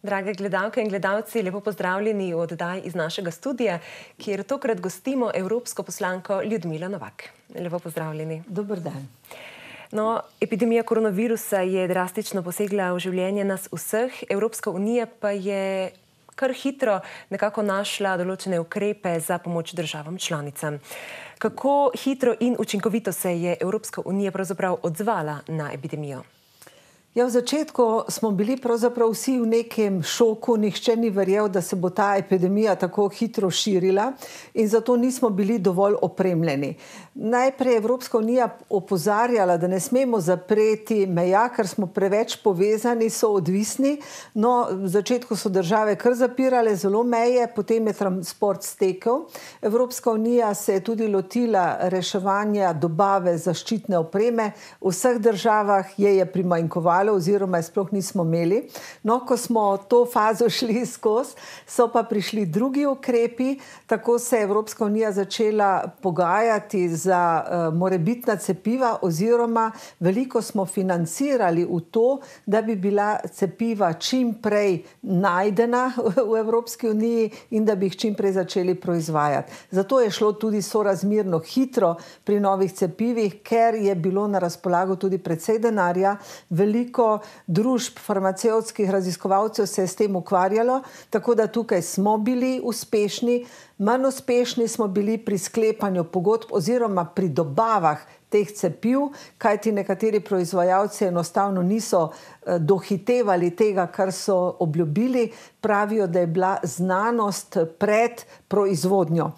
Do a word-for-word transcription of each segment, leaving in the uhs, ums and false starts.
Drage gledalke in gledalci, lepo pozdravljeni v oddaji iz našega studija, kjer tokrat gostimo evropsko poslanko Ljudmilo Novak. Lepo pozdravljeni. Dober dan. No, epidemija koronavirusa je drastično posegla v življenje nas vseh, Evropska unija pa je kar hitro nekako našla določene ukrepe za pomoč državam članicam. Kako hitro in učinkovito se je Evropska unija pravzaprav odzvala na epidemijo? Ja, v začetku smo bili pravzaprav vsi v nekem šoku, nihče ni verjel, da se bo ta epidemija tako hitro širila in zato nismo bili dovolj opremljeni. Najprej je Evropska unija opozarjala, da ne smemo zapreti meja, ker smo preveč povezani, so odvisni. No, v začetku so države kar zapirale zelo meje, potem je transport stekel. Evropska unija se je tudi lotila reševanja dobave zaščitne opreme. V vseh državah je je primanjkovalo oziroma je sploh nismo imeli. No, ko smo to fazo šli skozi, so pa prišli drugi ukrepi, tako se je Evropska unija začela pogajati za uh, morebitna cepiva oziroma veliko smo financirali v to, da bi bila cepiva čim prej najdena v Evropski uniji in da bi jih čim prej začeli proizvajati. Zato je šlo tudi sorazmerno hitro pri novih cepivih, ker je bilo na razpolago tudi precej denarja, veliko družb farmacevtskih raziskovalcev se je s tem ukvarjalo, tako da tukaj smo bili uspešni, manj uspešni smo bili pri sklepanju pogodb oziroma pri dobavah teh cepiv, kajti nekateri proizvajalci enostavno niso dohitevali tega, kar so obljubili, pravijo, da je bila znanost pred proizvodnjo.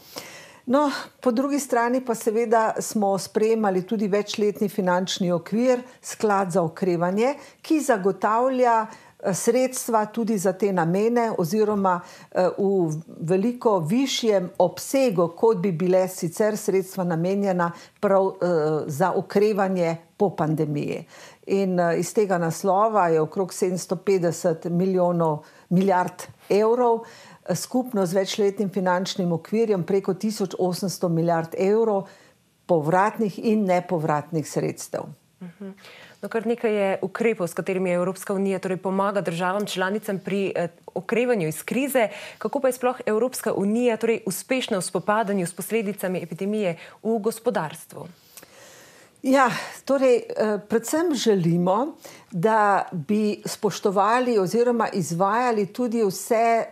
No, po drugi strani pa seveda smo sprejemali tudi večletni finančni okvir, sklad za okrevanje, ki zagotavlja sredstva tudi za te namene oziroma v veliko višjem obsegu, kot bi bile sicer sredstva namenjena prav za okrevanje po pandemiji. In iz tega naslova je okrog sedemsto petdeset milijonov milijard evrov, skupno z večletnim finančnim okvirjem preko tisoč osemsto milijard evrov povratnih in nepovratnih sredstev. Uh-huh. No, kar nekaj je ukrepov, s katerimi je Evropska unija torej pomaga državam članicam pri eh, okrevanju iz krize. Kako pa je sploh Evropska unija torej uspešna v spopadanju s posledicami epidemije v gospodarstvu? Ja, torej, predvsem želimo, da bi spoštovali oziroma izvajali tudi vse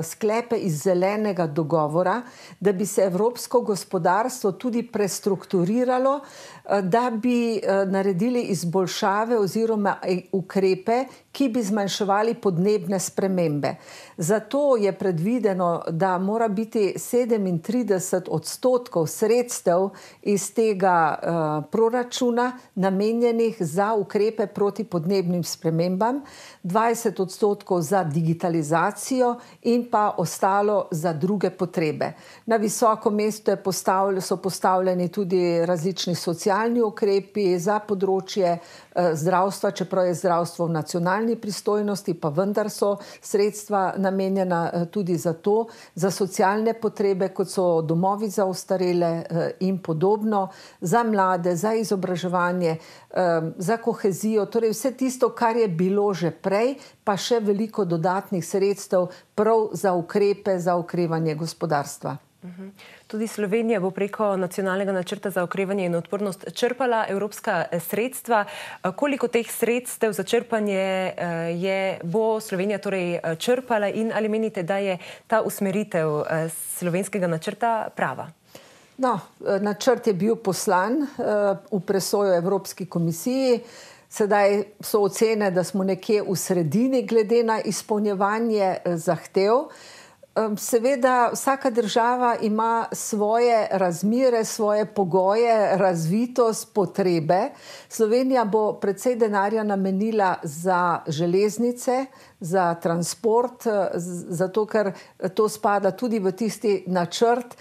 sklepe iz zelenega dogovora, da bi se evropsko gospodarstvo tudi prestrukturiralo, da bi naredili izboljšave oziroma ukrepe, ki bi zmanjševali podnebne spremembe. Zato je predvideno, da mora biti sedemintrideset odstotkov sredstev iz tega proračuna namenjenih za ukrepe proti podnebnim spremembam, dvajset odstotkov za digitalizacijo in pa ostalo za druge potrebe. Na visoko mesto je postavlj, so postavljeni tudi različni socialni ukrepi za področje zdravstva, čeprav je zdravstvo v nacionalni pristojnosti, pa vendar so sredstva namenjena tudi za to, za socialne potrebe, kot so domovi za ostarele in podobno, za mlade, za izobraževanje, za kohezijo, torej vse tisto, kar je bilo že prej, pa še veliko dodatnih sredstev prav za ukrepe, za okrevanje gospodarstva. Tudi Slovenija bo preko nacionalnega načrta za okrevanje in odpornost črpala evropska sredstva. Koliko teh sredstev za črpanje je, bo Slovenija torej črpala in ali menite, da je ta usmeritev slovenskega načrta prava? No, načrt je bil poslan v presojo Evropski komisiji. Sedaj so ocene, da smo nekje v sredini glede na izpolnjevanje zahtev. Seveda, vsaka država ima svoje razmere, svoje pogoje, razvitost, potrebe. Slovenija bo precej denarja namenila za železnice, za transport, zato ker to spada tudi v tisti načrt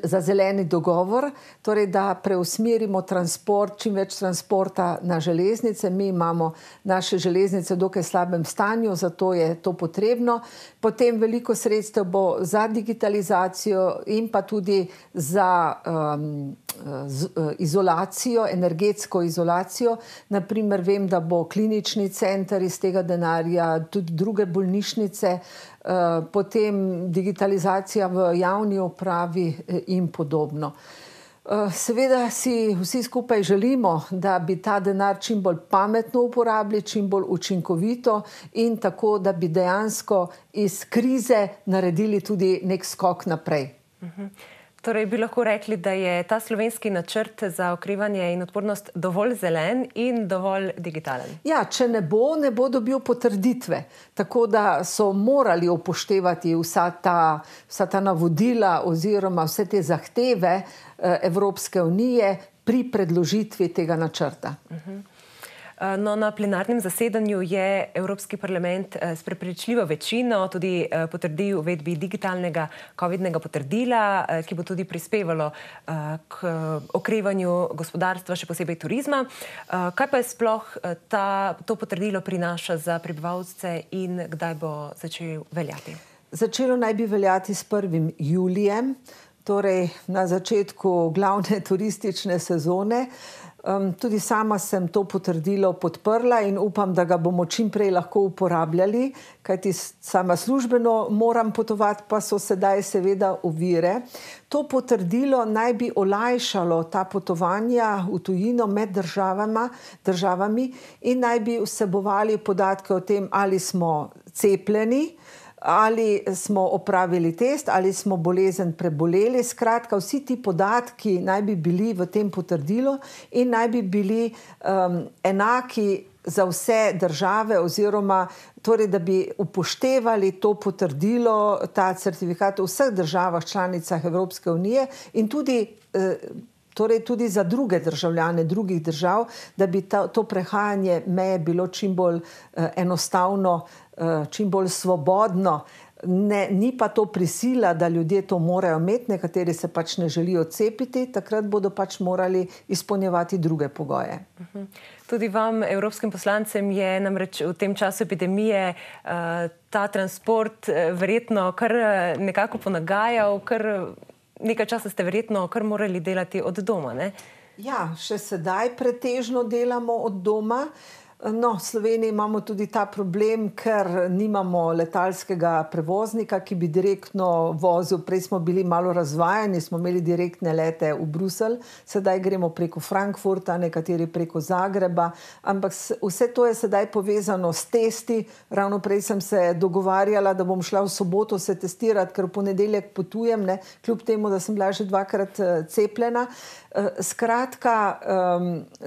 za zeleni dogovor, torej da preusmerimo transport, čim več transporta na železnice. Mi imamo naše železnice v dokaj slabem stanju, zato je to potrebno. Potem veliko sredstev sredstev bo za digitalizacijo in pa tudi za um, z, izolacijo, energetsko izolacijo. Naprimer, vem, da bo klinični center iz tega denarja, tudi druge bolnišnice, uh, potem digitalizacija v javni upravi in podobno. Seveda si vsi skupaj želimo, da bi ta denar čim bolj pametno uporabili, čim bolj učinkovito in tako, da bi dejansko iz krize naredili tudi nek skok naprej. Uh-huh. Torej bi lahko rekli, da je ta slovenski načrt za okrevanje in odpornost dovolj zelen in dovolj digitalen? Ja, če ne bo, ne bo dobil potrditve. Tako da so morali upoštevati vsa ta, vsa ta navodila oziroma vse te zahteve Evropske unije pri predložitvi tega načrta. Uh-huh. No, na plenarnem zasedanju je Evropski parlament s prepričljivo večino tudi potrdil uvedbi digitalnega covidnega potrdila, ki bo tudi prispevalo k okrevanju gospodarstva, še posebej turizma. Kaj pa je sploh ta, to potrdilo prinaša za prebivalce in kdaj bo začel veljati? Začelo naj bi veljati s prvim julijem, torej na začetku glavne turistične sezone. Um, tudi sama sem to potrdilo podprla in upam, da ga bomo čim prej lahko uporabljali, kajti sama službeno moram potovati, pa so sedaj seveda ovire. To potrdilo naj bi olajšalo ta potovanja v tujino med državama, državami in naj bi vsebovali podatke o tem, ali smo cepljeni, ali smo opravili test, ali smo bolezen preboleli. Skratka, vsi ti podatki naj bi bili v tem potrdilu in naj bi bili um, enaki za vse države oziroma torej, da bi upoštevali to potrdilo, ta certifikat v vseh državah članicah Evropske unije in tudi eh, torej tudi za druge državljane drugih držav, da bi ta, to prehajanje meje bilo čim bolj eh, enostavno, eh, čim bolj svobodno. Ne, ni pa to prisila, da ljudje to morajo imeti, nekateri se pač ne želijo cepiti, takrat bodo pač morali izpolnjevati druge pogoje. Uh-huh. Tudi vam, evropskim poslancem, je namreč v tem času epidemije uh, ta transport uh, verjetno kar nekako ponagajal, kar nekaj časa ste verjetno kar morali delati od doma, ne? Ja, še sedaj pretežno delamo od doma. No, v Sloveniji imamo tudi ta problem, ker nimamo letalskega prevoznika, ki bi direktno vozil. Prej smo bili malo razvajani, smo imeli direktne lete v Bruselj, sedaj gremo preko Frankfurta, nekateri preko Zagreba, ampak vse to je sedaj povezano s testi. Ravno prej sem se dogovarjala, da bom šla v soboto se testirati, ker v ponedeljek potujem, ne, kljub temu, da sem bila že dvakrat cepljena. Skratka,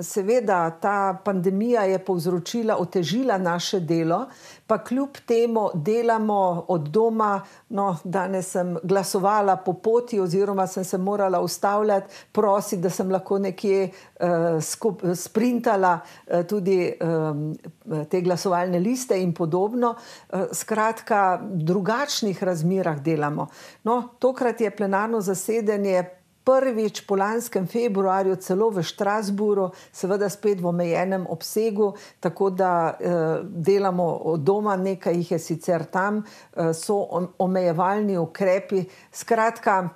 seveda ta pandemija je povzročila, otežila naše delo, pa kljub temu delamo od doma. No, danes sem glasovala po poti oziroma sem se morala ustavljati, prositi, da sem lahko nekje uh, skup, sprintala uh, tudi um, te glasovalne liste in podobno. Uh, skratka, v drugačnih razmerah delamo. No, tokrat je plenarno zasedanje prvič po lanskem februarju celo v Štrasburu, seveda spet v omejenem obsegu, tako da eh, delamo od doma, nekaj jih je sicer tam, eh, so omejevalni ukrepi. Skratka,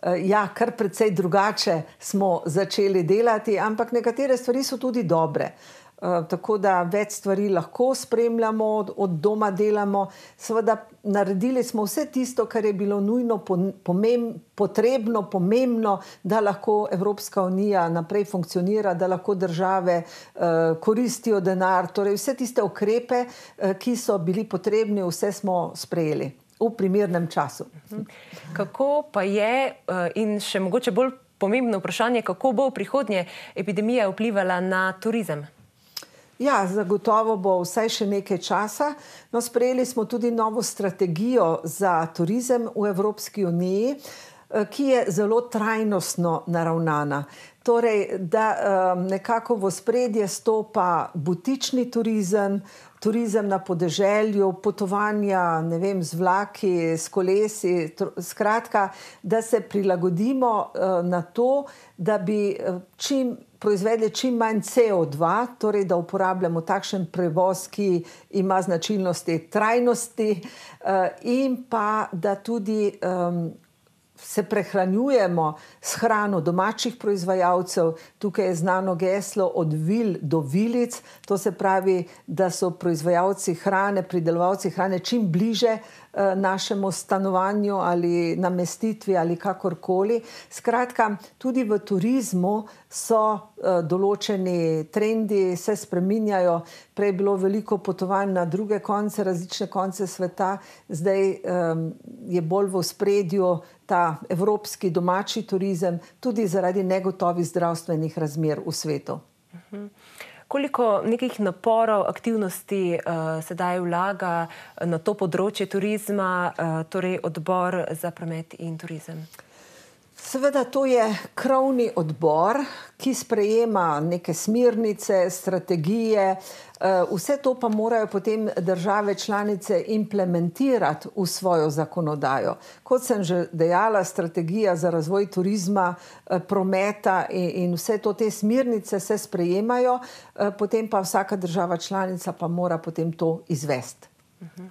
eh, ja, kar precej drugače smo začeli delati, ampak nekatere stvari so tudi dobre. Uh, tako da več stvari lahko spremljamo, od, od doma delamo. Seveda naredili smo vse tisto, kar je bilo nujno, pomem, potrebno, pomembno, da lahko Evropska unija naprej funkcionira, da lahko države uh, koristijo denar. Torej vse tiste ukrepe, uh, ki so bili potrebni, vse smo sprejeli v primernem času. Kako pa je, uh, in še mogoče bolj pomembno vprašanje, kako bo v prihodnje epidemija vplivala na turizem? Ja, zagotovo bo vsaj še nekaj časa. No, sprejeli smo tudi novo strategijo za turizem v Evropski uniji, ki je zelo trajnostno naravnana. Torej, da um, nekako v ospredje stopa butični turizem, turizem na podeželju, potovanja, ne vem, z vlaki, s kolesi, skratka, da se prilagodimo uh, na to, da bi čim proizvedli čim manj C O dva, torej da uporabljamo takšen prevoz, ki ima značilnosti trajnosti in pa da tudi um, se prehranjujemo s hrano domačih proizvajalcev. Tukaj je znano geslo od vil do vilic, to se pravi, da so proizvajalci hrane, pridelovalci hrane čim bliže eh, našemu stanovanju ali namestitvi ali kakorkoli. Skratka, tudi v turizmu so eh, določeni trendi, se spreminjajo. Prej je bilo veliko potovanj na druge konce, različne konce sveta, zdaj eh, je bolj v ospredju ta evropski domači turizem, tudi zaradi negotovih zdravstvenih razmer v svetu. Uh-huh. Koliko nekih naporov, aktivnosti uh, sedaj vlaga na to področje turizma, uh, torej Odbor za promet in turizem? Seveda, to je krovni odbor, ki sprejema neke smernice, strategije, vse to pa morajo potem države članice implementirati v svojo zakonodajo. Kot sem že dejala, strategija za razvoj turizma, prometa in vse to, te smernice se sprejemajo, potem pa vsaka država članica pa mora potem to izvesti. Uh-huh.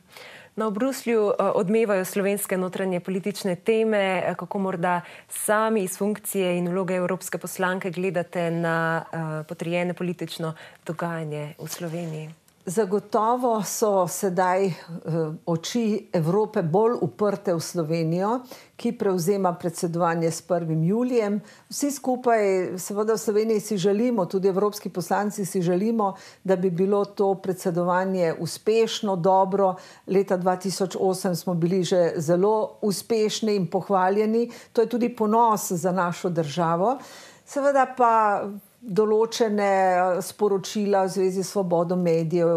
Na v Bruslju odmevajo slovenske notranje politične teme. Kako morda sami iz funkcije in vloge evropske poslanke gledate na potrjene politično dogajanje v Sloveniji? Zagotovo so sedaj oči Evrope bolj uprte v Slovenijo, ki prevzema predsedovanje s prvim julijem. Vsi skupaj, seveda v Sloveniji si želimo, tudi evropski poslanci si želimo, da bi bilo to predsedovanje uspešno, dobro. Leta dva tisoč osem smo bili že zelo uspešni in pohvaljeni. To je tudi ponos za našo državo. Seveda pa določene sporočila v zvezi s svobodo medijev,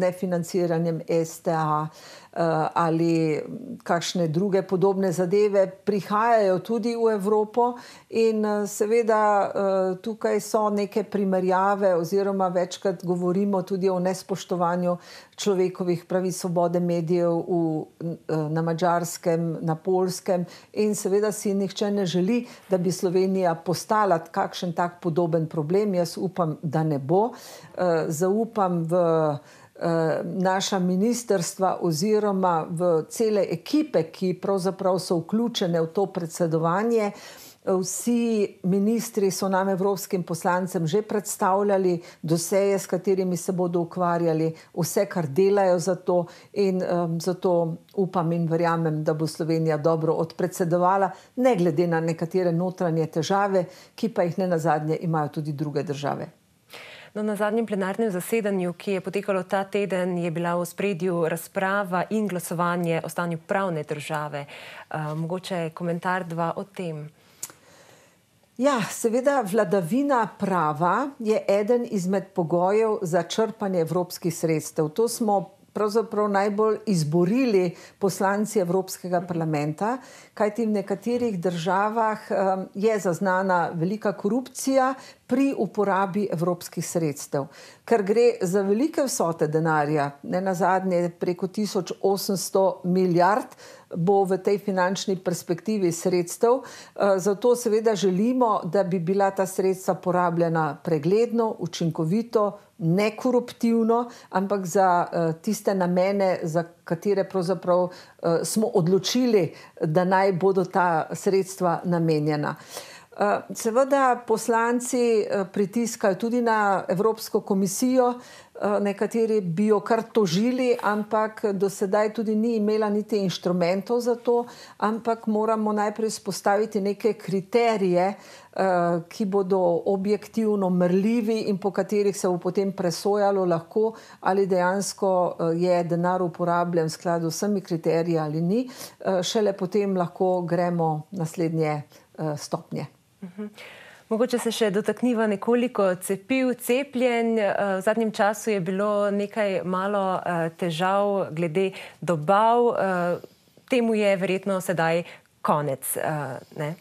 nefinanciranjem S T A ali kakšne druge podobne zadeve prihajajo tudi v Evropo in seveda tukaj so neke primerjave oziroma večkrat govorimo tudi o nespoštovanju človekovih pravic, svobode medijev v, na Madžarskem, na Poljskem in seveda si nihče ne želi, da bi Slovenija postala kakšen tak podoben problem. Jaz upam, da ne bo. Zaupam v naša ministrstva oziroma v cele ekipe, ki pravzaprav so vključene v to predsedovanje. Vsi ministri so nam, evropskim poslancem, že predstavljali doseje, s katerimi se bodo ukvarjali, vse, kar delajo za to in um, zato upam in verjamem, da bo Slovenija dobro odpredsedovala, ne glede na nekatere notranje težave, ki pa jih ne nazadnje imajo tudi druge države. No, na zadnjem plenarnem zasedanju, ki je potekalo ta teden, je bila v ospredju razprava in glasovanje o stanju pravne države. Uh, mogoče komentar dva o tem. Ja, seveda vladavina prava je eden izmed pogojev za črpanje evropskih sredstev. To smo pravzaprav najbolj izborili poslanci Evropskega parlamenta, kajti v nekaterih državah um, je zaznana velika korupcija pri uporabi evropskih sredstev. Ker gre za velike vsote denarja, ne nazadnje preko tisoč osemsto milijard, bo v tej finančni perspektivi sredstev. Zato seveda želimo, da bi bila ta sredstva porabljena pregledno, učinkovito, nekoruptivno, ampak za tiste namene, za katere pravzaprav smo odločili, da naj bodo ta sredstva namenjena. Seveda poslanci pritiskajo tudi na Evropsko komisijo, nekateri bi jo kar tožili, ampak do sedaj tudi ni imela niti inštrumentov za to, ampak moramo najprej spostaviti neke kriterije, ki bodo objektivno merljivi in po katerih se bo potem presojalo lahko, ali dejansko je denar uporabljen v skladu s vsemi kriteriji ali ni. Šele potem lahko gremo naslednje stopnje. Uh-huh. Mogoče se še dotakniva nekoliko cepiv, cepljenj. V zadnjem času je bilo nekaj malo težav glede dobav. Temu je verjetno sedaj konec, ne?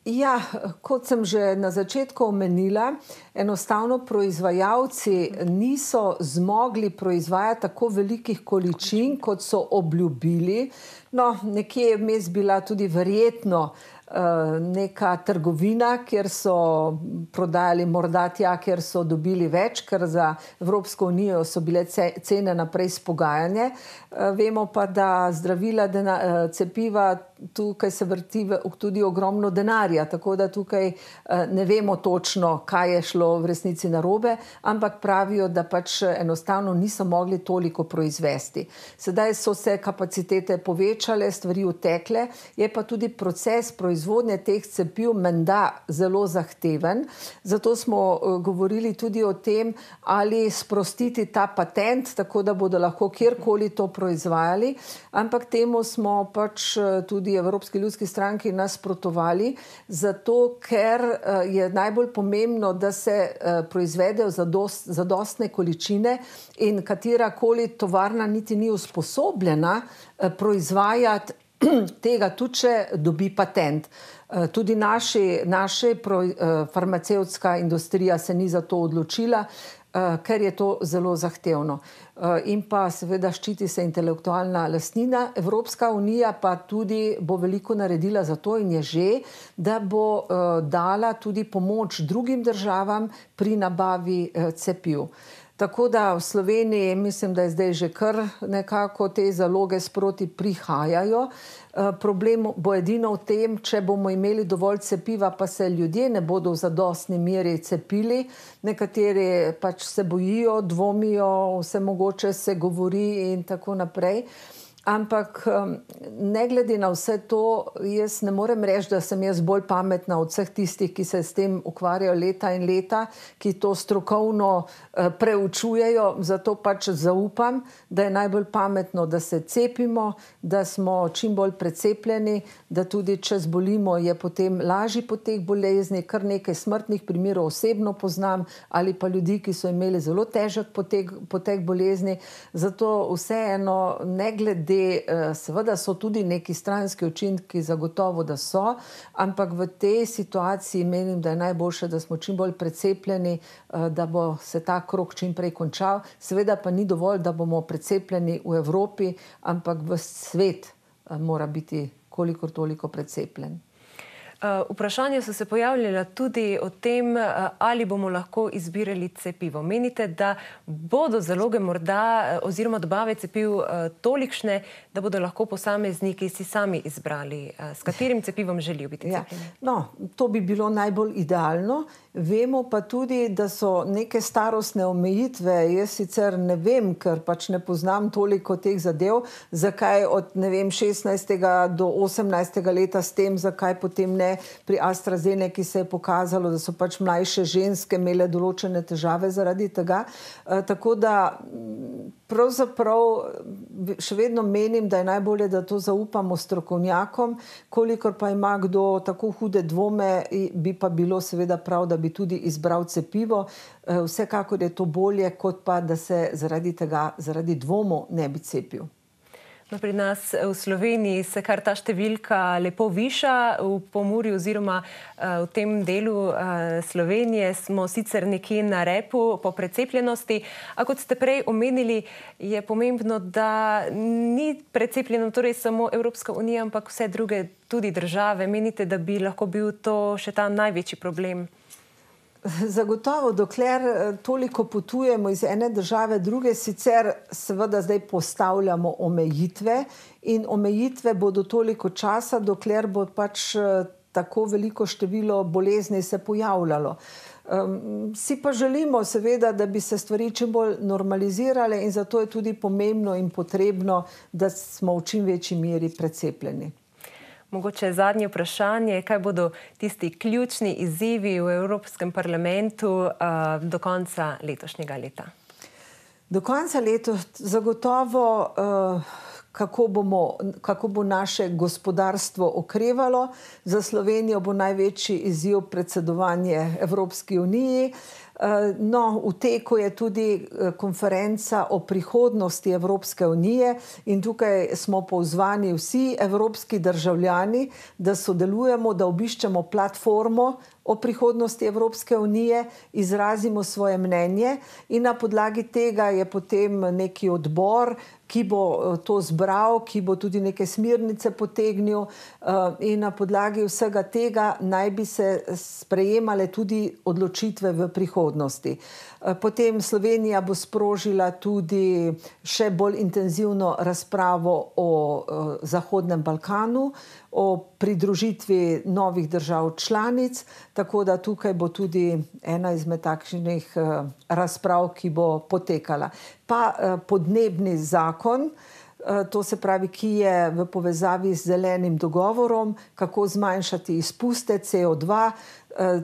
Ja, kot sem že na začetku omenila, enostavno proizvajalci niso zmogli proizvajati tako velikih količin, kot so obljubili. No, nekje je vmes bila tudi verjetno neka trgovina, kjer so prodajali morda tja, kjer so dobili več, ker za Evropsko unijo so bile cene naprej spogajanje. Vemo pa, da zdravila, cepiva, tukaj se vrti tudi ogromno denarja, tako da tukaj ne vemo točno, kaj je šlo v resnici narobe, ampak pravijo, da pač enostavno niso mogli toliko proizvesti. Sedaj so se kapacitete povečale, stvari utekle, je pa tudi proces proizvodnje teh cepiv menda zelo zahteven. Zato smo govorili tudi o tem, ali sprostiti ta patent, tako da bodo lahko kjerkoli to proizvajali, ampak temu smo pač tudi Evropski ljudski stranki nasprotovali, zato ker je najbolj pomembno, da se proizvedejo zadostne količine in katerakoli tovarna niti ni usposobljena proizvajati tega, tudi če dobi patent. Tudi naša farmacevtska industrija se ni za to odločila, ker je to zelo zahtevno. In pa seveda ščiti se intelektualna lastnina. Evropska unija pa tudi bo veliko naredila za to in je že, da bo dala tudi pomoč drugim državam pri nabavi cepiv. Tako da v Sloveniji mislim, da je zdaj že kar nekako te zaloge sproti prihajajo. Problem bo edino v tem, če bomo imeli dovolj cepiva, pa se ljudje ne bodo v zadostni meri cepili. Nekateri pač se bojijo, dvomijo, vse mogoče se govori in tako naprej. Ampak ne glede na vse to, jaz ne morem reči, da sem jaz bolj pametna od vseh tistih, ki se s tem ukvarjajo leta in leta, ki to strokovno preučujejo, zato pač zaupam, da je najbolj pametno, da se cepimo, da smo čim bolj precepljeni, da tudi če zbolimo, je potem lažji potek bolezni, kar nekaj smrtnih primerov osebno poznam, ali pa ljudi, ki so imeli zelo težek potek, potek bolezni. Zato vseeno, ne glede, seveda so tudi neki stranski učinki, zagotovo, da so, ampak v tej situaciji menim, da je najboljše, da smo čim bolj precepljeni, da bo se ta krog čim prej končal. Seveda pa ni dovolj, da bomo precepljeni v Evropi, ampak v svet mora biti kolikor toliko precepljen. Vprašanja so se pojavljala tudi o tem, ali bomo lahko izbirali cepivo. Menite, da bodo zaloge morda oziroma dobave cepiv tolikšne, da bodo lahko posamezniki si sami izbrali, s katerim cepivom želijo biti cepljeni? Ja. No, to bi bilo najbolj idealno. Vemo pa tudi, da so neke starostne omejitve. Jaz sicer ne vem, ker pač ne poznam toliko teh zadev, zakaj od, ne vem, šestnajstega do osemnajstega leta s tem, zakaj potem ne pri AstraZeneki se je pokazalo, da so pač mlajše ženske imele določene težave zaradi tega. Tako da pravzaprav še vedno menim, da je najbolje, da to zaupamo strokovnjakom, kolikor pa ima kdo tako hude dvome, bi pa bilo seveda prav, da bi tudi izbral cepivo. Vsekakor je to bolje, kot pa, da se zaradi tega, zaradi dvomov ne bi cepil. No, pri nas v Sloveniji se kar ta številka lepo viša. V Pomurju oziroma v tem delu Slovenije smo sicer nekje na repu po precepljenosti, a kot ste prej omenili, je pomembno, da ni precepljeno torej samo Evropska unija, ampak vse druge tudi države. Menite, da bi lahko bil to še ta največji problem? Zagotovo, dokler toliko potujemo iz ene države druge, sicer seveda zdaj postavljamo omejitve in omejitve bodo toliko časa, dokler bo pač tako veliko število bolezni se pojavljalo. Um, si pa želimo seveda, da bi se stvari čim bolj normalizirale in zato je tudi pomembno in potrebno, da smo v čim večji meri precepljeni. Mogoče zadnje vprašanje, kaj bodo tisti ključni izzivi v Evropskem parlamentu uh, do konca letošnjega leta? Do konca leta zagotovo, uh, kako bomo, kako bo naše gospodarstvo okrevalo. Za Slovenijo bo največji izziv predsedovanje Evropski uniji. No, v teku je tudi konferenca o prihodnosti Evropske unije in tukaj smo pozvani vsi evropski državljani, da sodelujemo, da obiščemo platformo o prihodnosti Evropske unije, izrazimo svoje mnenje in na podlagi tega je potem neki odbor, ki bo to zbral, ki bo tudi neke smernice potegnil in na podlagi vsega tega naj bi se sprejemale tudi odločitve v prihodnosti. Potem Slovenija bo sprožila tudi še bolj intenzivno razpravo o Zahodnem Balkanu, o pridružitvi novih držav članic, tako da tukaj bo tudi ena izmed takšnih razprav, ki bo potekala. Pa podnebni zakon, to se pravi, ki je v povezavi z zelenim dogovorom, kako zmanjšati izpuste C O dva,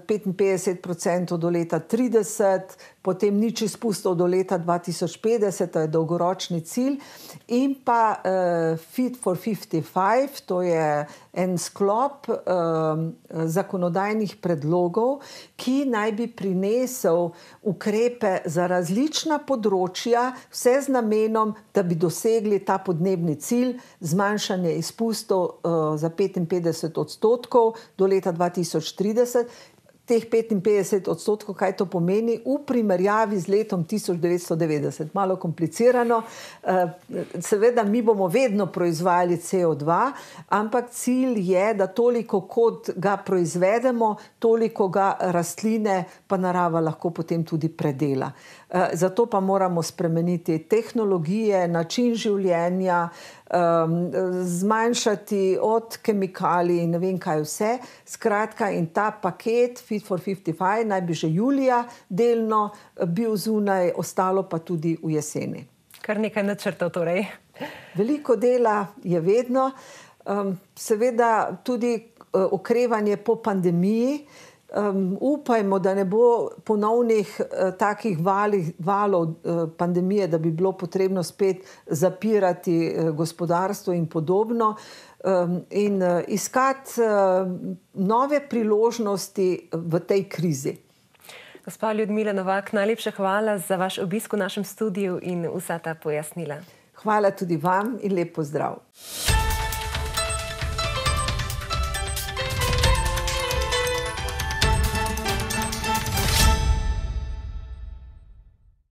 petinpetdeset procentov do leta trideset, potem nič izpustov do leta dva tisoč petdeset, to je dolgoročni cilj, in pa uh, Fit for petdeset pet, to je en sklop uh, zakonodajnih predlogov, ki naj bi prinesel ukrepe za različna področja, vse z namenom, da bi dosegli ta podnebni cilj, zmanjšanje izpustov uh, za petinpetdeset odstotkov do leta dva tisoč trideset. Teh petinpetdeset odstotkov, kaj to pomeni v primerjavi z letom tisoč devetsto devetdeset. Malo komplicirano. Seveda, mi bomo vedno proizvajali C O dva, ampak cilj je, da toliko, kot ga proizvedemo, toliko ga rastline pa narava lahko potem tudi predela. Zato pa moramo spremeniti tehnologije, način življenja, zmanjšati od kemikalij in ne vem kaj vse. Skratka, in ta paket Fit for petdeset pet naj bi že julija delno bil zunaj, ostalo pa tudi v jeseni. Kar nekaj načrtov torej. Veliko dela je vedno. Seveda tudi okrevanje po pandemiji. Um, upajmo, da ne bo ponovnih uh, takih valih, valov uh, pandemije, da bi bilo potrebno spet zapirati uh, gospodarstvo in podobno um, in uh, iskati uh, nove priložnosti v tej krizi. Gospa Ljudmila Novak, najlepša hvala za vaš obisk v našem studiu in vsa ta pojasnila. Hvala tudi vam in lep pozdrav.